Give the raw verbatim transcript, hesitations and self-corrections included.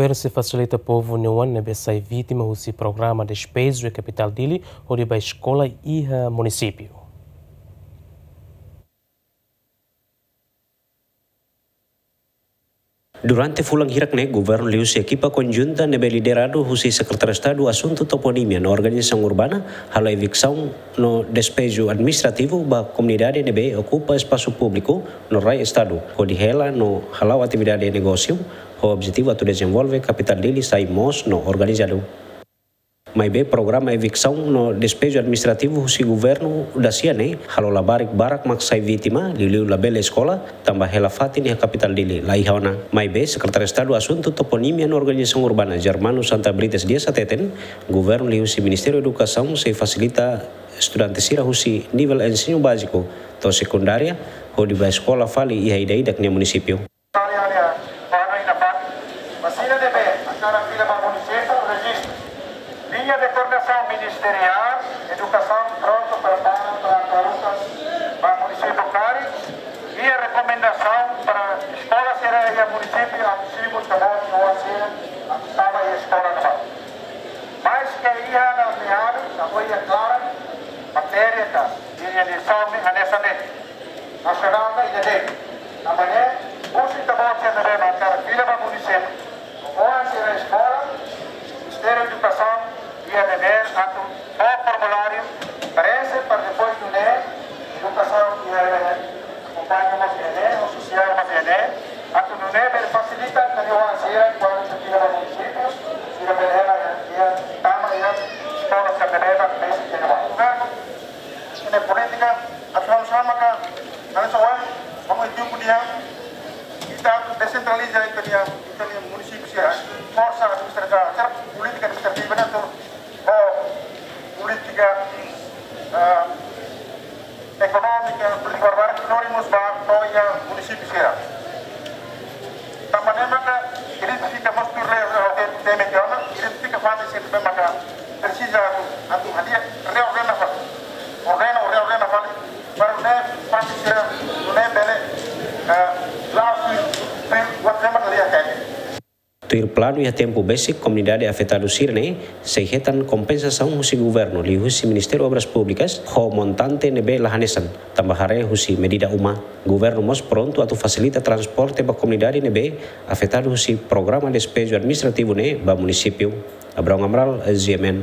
Governu sei fasilita povu na'in-rua ne'ebé sai vítima husi programa Despeju iha kapitál Dili hodi bá eskola iha munisípiu. Durante fulan hirak ne'e, governu liuhusi ekipa konjunta ne'ebé lideradu husi Sekretáriu Estadu Asuntu Toponímia no Organizasaun Urbana halo eviksaun no despeju administrativu ba komunidade ne'ebé okupa espasu públiku no rai Estadu, hodi hela no hala'o atividade negósiu, ho objetivu atu dezenvolve kapitál Dili sai moos no organizadu. Maibé programa eviksaun no despeju administrativu husi governu dasia ne'e halo labarik barak mak sai vítima, liuliu labele eskola, tanba hela fatin iha kapitál Dili la iha ona. Maibé Sekretáriu Estadu Asuntu Toponímia no Organizasaun Urbana, Germano Santa Brites Dias hateten, governu liuhusi Ministériu Edukasaun sei fasilita estudante sira husi nivel ensinu báziku to'o sekundária hodi bá eskola fali iha ida-idak nia munisípiu. Área, área, área ida-ne'e, ba sira ne'ebé hakarak fila ba munisípiu, rejistu. Liña de koordenasaun ministeriál, edukasaun prontu prepara para tarukas ba munisípiu karik, iha rekomendasaun para eskola sira iha munisípiu atu simu ita-boot nia oan sira atu tama iha eskola ne'ebá. Maske iha na meadu, ita-boot iha klaran, matéria ka, iha lisaun ne'e hanesan ne'e. Nasionál ka ida de'it. Tanba ne'e, husu ita-boot sira ne'ebé hakarak fila ba munisípiu. Oan sira eskola, Ministériu Edukasaun, iha devér atu fó formuláriu, preenxe para depois nune'e, edukasaun iha devér, akompaña mós iha ne'e, sosiál mós iha ne'e, atu nune'e bele fasilita, ita-nia oan sira, kuandu sira fila ba munisípiu, sira bele hela, iha, tama iha, eskola sira bele hela, bele sira bele hela. Ne'e polítika atu halo sama ka, halo sama, vamos ekipu dia, ita desentraliza ita-nia, ita-nia munisípiu sira, forsa administrativa, sira polítika administrativa ne'e atu, oh, polítika, ah, ekonómika, polítika barbarak, lori mós ba to'o iha munisípiu sira. Tanba ne'e maka identifika mós tuir lei, eh, teme ke ona, identifika fatin sira ne'ebé maka presiza atu, atu hadi'a, reordena fali. Ordena, reordena fali, para ne'e fatin sira, ne'e bele, eh, la'o tuir, tuir, buat ne'e maka lia kain. Tuir planu iha tempu besik komunidade afetadu sira-ne'e sei hetan kompensasaun husi governu liuhusi Ministériu Obras Públikas ho montante ne'ebé la hanesan, tanba haree husi medida uma. Governu mós prontu atu fasilita transporte ba komunidade ne'ebé afetadu husi programa despeju administrativu ne'e ba munisípiu. Abraão Amaral, G M N.